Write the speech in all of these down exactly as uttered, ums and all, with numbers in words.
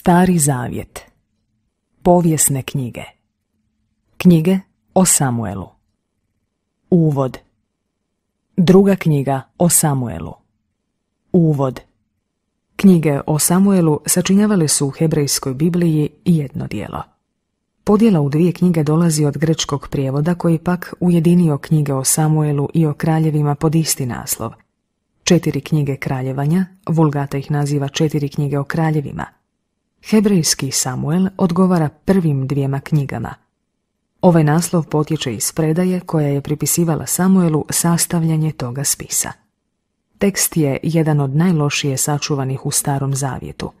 Stari zavjet. Povijesne knjige. Knjige o Samuelu. Uvod. Druga knjiga o Samuelu. Uvod. Knjige o Samuelu sačinjavale su u hebrejskoj Bibliji jedno djelo. Podjela u dvije knjige dolazi od grčkog prijevoda koji pak ujedinio knjige o Samuelu i o kraljevima pod isti naslov. Četiri knjige kraljevanja, Vulgata ih naziva četiri knjige o kraljevima. Hebrejski Samuel odgovara prvim dvijema knjigama. Ovaj naslov potječe iz predaje koja je pripisivala Samuelu sastavljanje toga spisa. Tekst je jedan od najlošije sačuvanih u Starom zavjetu.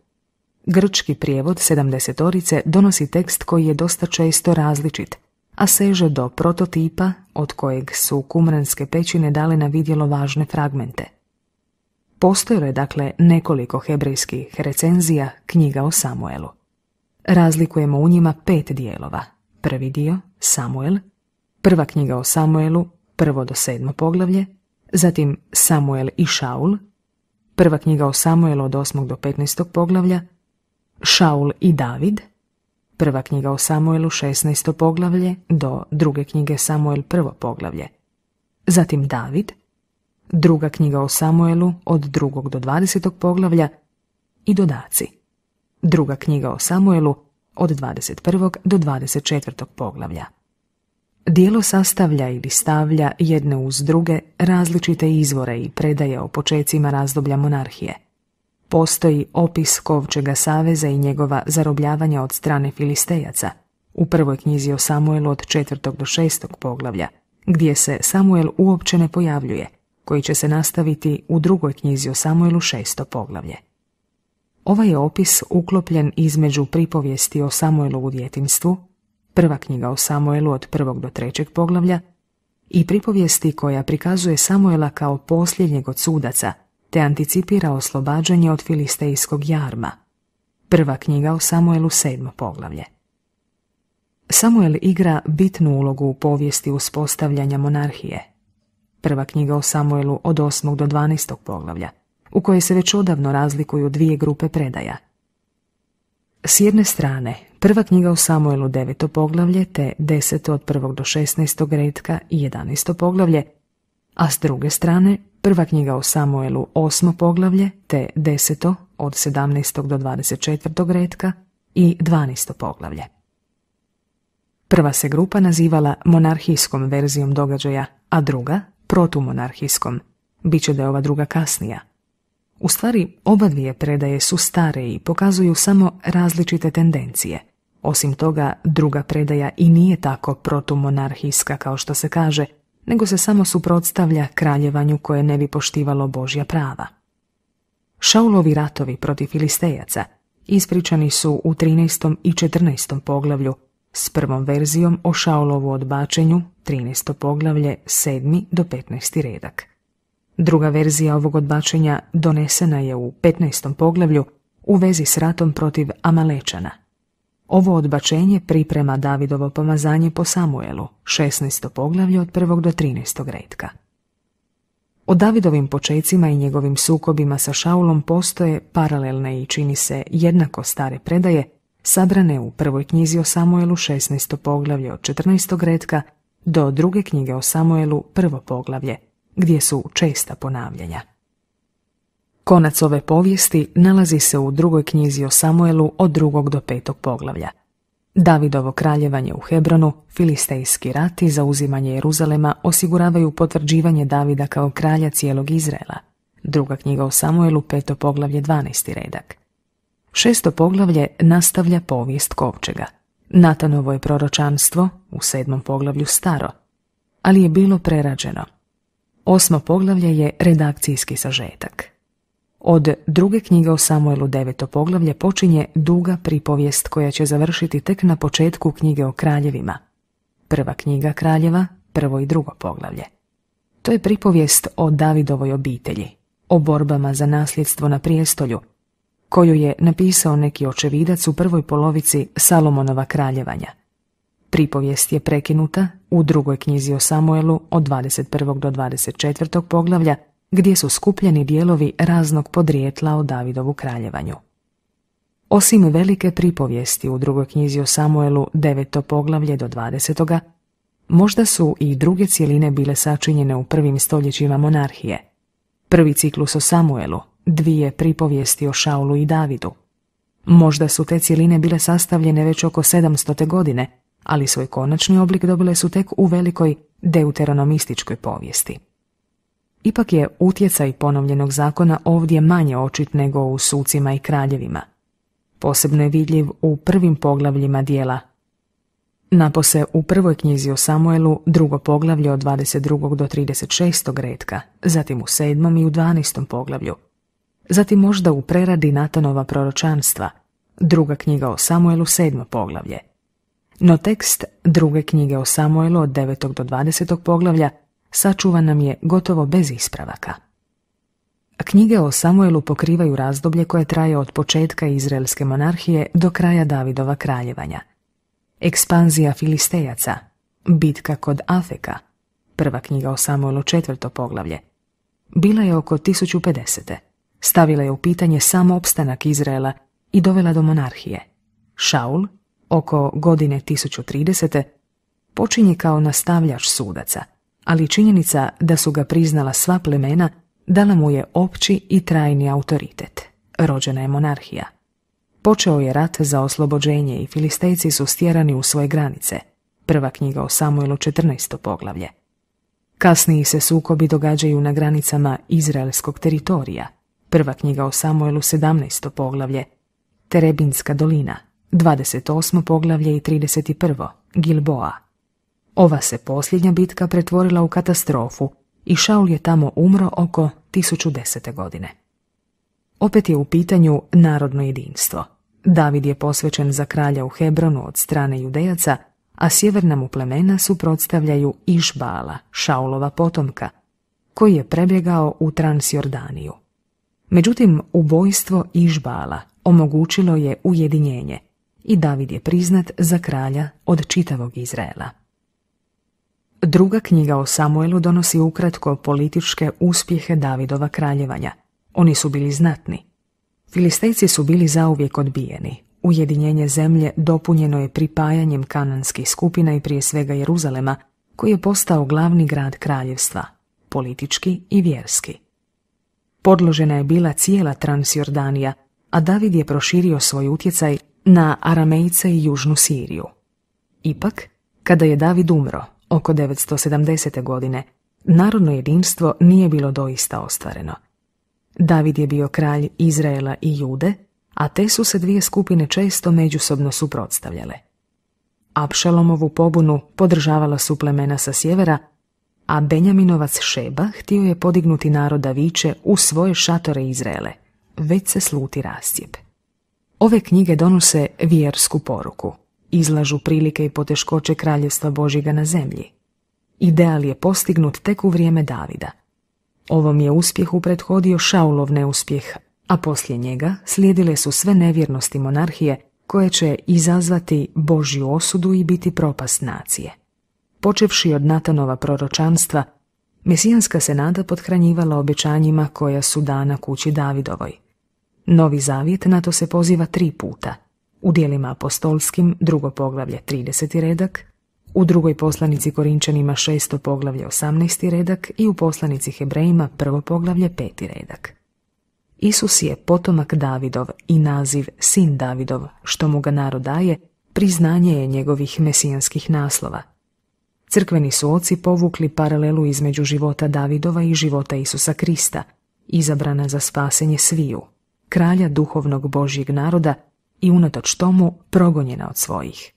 Grčki prijevod sedamdesetorice donosi tekst koji je dosta često različit, a seže do prototipa od kojeg su kumranske pećine dale na vidjelo važne fragmente. Postojalo je dakle nekoliko hebrejskih recenzija knjiga o Samuelu. Razlikujemo u njima pet dijelova. Prvi dio, Samuel, prva knjiga o Samuelu, prvo do sedmo poglavlje, zatim Samuel i Šaul, prva knjiga o Samuelu od osmog do petnaestog poglavlja, Šaul i David, prva knjiga o Samuelu šesnaesto poglavlje do druge knjige Samuel prvo poglavlje, zatim David, druga knjiga o Samuelu od drugog do dvadesetog poglavlja i dodaci. Druga knjiga o Samuelu od dvadeset prvog do dvadeset četvrtog poglavlja. Dijelo sastavlja ili stavlja jedne uz druge različite izvore i predaje o počecima razdoblja monarhije. Postoji opis Kovčega saveza i njegova zarobljavanja od strane Filistejaca u prvoj knjizi o Samuelu od četvrtog do šestog poglavlja, gdje se Samuel uopće ne pojavljuje, koji će se nastaviti u drugoj knjizi o Samuelu šesto poglavlje. Ovaj je opis uklopljen između pripovijesti o Samuelu u djetinjstvu, prva knjiga o Samuelu od prvog do trećeg poglavlja, i pripovijesti koja prikazuje Samuela kao posljednjeg od sudaca, te anticipira oslobađanje od filistejskog jarma, prva knjiga o Samuelu sedmo poglavlje. Samuel igra bitnu ulogu u povijesti uspostavljanja monarhije, prva knjiga o Samuelu od osmog do dvanaestog poglavlja, u kojoj se već odavno razlikuju dvije grupe predaja. S jedne strane, prva knjiga o Samuelu deveto poglavlje te deseto od prvog do šesnaestog retka i jedanaesto poglavlje, a s druge strane, prva knjiga o Samuelu osmo poglavlje te deseto od sedamnaestog do dvadeset četvrtog retka i dvanaesto poglavlje. Prva se grupa nazivala monarhijskom verzijom događaja, a druga protumonarhijskom, bit će da je ova druga kasnija. U stvari, oba dvije predaje su stare i pokazuju samo različite tendencije. Osim toga, druga predaja i nije tako protumonarhijska kao što se kaže, nego se samo suprotstavlja kraljevanju koje ne bi poštivalo Božja prava. Šaulovi ratovi protiv Filistejaca ispričani su u trinaestom i četrnaestom poglavlju s prvom verzijom o Šaulovu odbačenju, trinaesto poglavlje, sedmi do petnaesti redak. Druga verzija ovog odbačenja donesena je u petnaestom poglavlju u vezi s ratom protiv Amalečana. Ovo odbačenje priprema Davidovo pomazanje po Samuelu, šesnaesto poglavlje od prvog do trinaestog retka. O Davidovim počecima i njegovim sukobima sa Šaulom postoje paralelne i čini se jednako stare predaje, sabrane u prvoj knjizi o Samuelu šesnaesto poglavlje od četrnaestog retka do druge knjige o Samuelu prvo poglavlje, gdje su česta ponavljanja. Konac ove povijesti nalazi se u drugoj knjizi o Samuelu od drugog do petog poglavlja. Davidovo kraljevanje u Hebronu, filistejski rat i zauzimanje Jeruzalema osiguravaju potvrđivanje Davida kao kralja cijelog Izraela. Druga knjiga o Samuelu, peto poglavlje, dvanaesti redak. Šesto poglavlje nastavlja povijest Kovčega. Natanovo je proročanstvo u sedmom poglavlju staro, ali je bilo prerađeno. Osmo poglavlje je redakcijski sažetak. Od druge knjige o Samuelu deveto poglavlje počinje duga pripovijest koja će završiti tek na početku knjige o kraljevima. Prva knjiga kraljeva, prvo i drugo poglavlje. To je pripovijest o Davidovoj obitelji, o borbama za nasljedstvo na prijestolju, koju je napisao neki očevidac u prvoj polovici Salomonova kraljevanja. Pripovijest je prekinuta u drugoj knjizi o Samuelu od dvadeset prvog do dvadeset četvrtog poglavlja, gdje su skupljeni dijelovi raznog podrijetla o Davidovu kraljevanju. Osim velike pripovijesti u drugoj knjizi o Samuelu, deveto poglavlje do dvadesetoga, možda su i druge cjeline bile sačinjene u prvim stoljećima monarhije. Prvi ciklus o Samuelu, dvije pripovijesti o Šaulu i Davidu. Možda su te cjeline bile sastavljene već oko sedamstote godine, ali svoj konačni oblik dobile su tek u velikoj deuteronomističkoj povijesti. Ipak je utjecaj ponovljenog zakona ovdje manje očit nego u Sucima i kraljevima. Posebno je vidljiv u prvim poglavljima dijela. Napose u prvoj knjizi o Samuelu, drugo poglavlje od dvadeset drugog do trideset šestog retka, zatim u sedmom i u dvanaestom poglavlju. Zatim možda u preradi Natanova proročanstva, druga knjiga o Samuelu, sedmo poglavlje. No tekst druge knjige o Samuelu od devetog do dvadesetog poglavlja sačuvan nam je gotovo bez ispravaka. Knjige o Samuelu pokrivaju razdoblje koje traje od početka izraelske monarhije do kraja Davidova kraljevanja. Ekspanzija Filistejaca, bitka kod Afeka, prva knjiga o Samuelu, četvrto poglavlje, bila je oko tisuću pedesete. Stavila je u pitanje sam opstanak Izraela i dovela do monarhije. Šaul, oko godine tisuću tridesete, počinje kao nastavljač sudaca, ali činjenica da su ga priznala sva plemena dala mu je opći i trajni autoritet. Rođena je monarhija. Počeo je rat za oslobođenje i Filistejci su stjerani u svoje granice. Prva knjiga o Samuelu, četrnaesto poglavlje. Kasniji se sukobi događaju na granicama izraelskog teritorija. Prva knjiga o Samuelu, sedamnaesto poglavlje. Terebinska dolina, dvadeset osmo poglavlje i trideset prvo. Gilboa. Ova se posljednja bitka pretvorila u katastrofu i Šaul je tamo umro oko tisuću desete godine. Opet je u pitanju narodno jedinstvo. David je posvećen za kralja u Hebronu od strane Judejaca, a sjeverna mu plemena suprotstavljaju Išbala, Šaulova potomka, koji je prebjegao u Transjordaniju. Međutim, ubojstvo Išbala omogućilo je ujedinjenje i David je priznat za kralja od čitavog Izraela. Druga knjiga o Samuelu donosi ukratko političke uspjehe Davidova kraljevanja. Oni su bili znatni. Filistejci su bili zauvijek odbijeni. Ujedinjenje zemlje dopunjeno je pripajanjem kananskih skupina i prije svega Jeruzalema, koji je postao glavni grad kraljevstva, politički i vjerski. Podložena je bila cijela Transjordanija, a David je proširio svoj utjecaj na Aramejce i južnu Siriju. Ipak, kada je David umro, oko devetsto sedamdesete godine, narodno jedinstvo nije bilo doista ostvareno. David je bio kralj Izraela i Jude, a te su se dvije skupine često međusobno suprotstavljale. Apšalomovu pobunu podržavala su plemena sa sjevera, a Benjaminovac Šeba htio je podignuti naroda viče u svoje šatore Izraele, već se sluti rascijep. Ove knjige donose vjersku poruku, izlažu prilike i poteškoće kraljevstva Božjega na zemlji. Ideal je postignut tek u vrijeme Davida. Ovom je uspjehu prethodio Šaulov neuspjeh, a poslije njega slijedile su sve nevjernosti monarhije koje će izazvati Božju osudu i biti propast nacije. Počevši od Natanova proročanstva, mesijanska se nada pothranjivala obećanjima koja su dana kući Davidovoj. Novi zavjet na to se poziva tri puta. U dijelima apostolskim, drugo poglavlje, trideseti redak, u drugoj poslanici Korinčanima, šesto poglavlje, osamnaesti redak i u poslanici Hebrejima, prvo poglavlje, peti redak. Isus je potomak Davidov i naziv sin Davidov, što mu ga narod daje, priznanje je njegovih mesijanskih naslova. Crkveni su oci povukli paralelu između života Davidova i života Isusa Krista, izabrana za spasenje sviju, kralja duhovnog Božjeg naroda i unatoč tomu progonjena od svojih.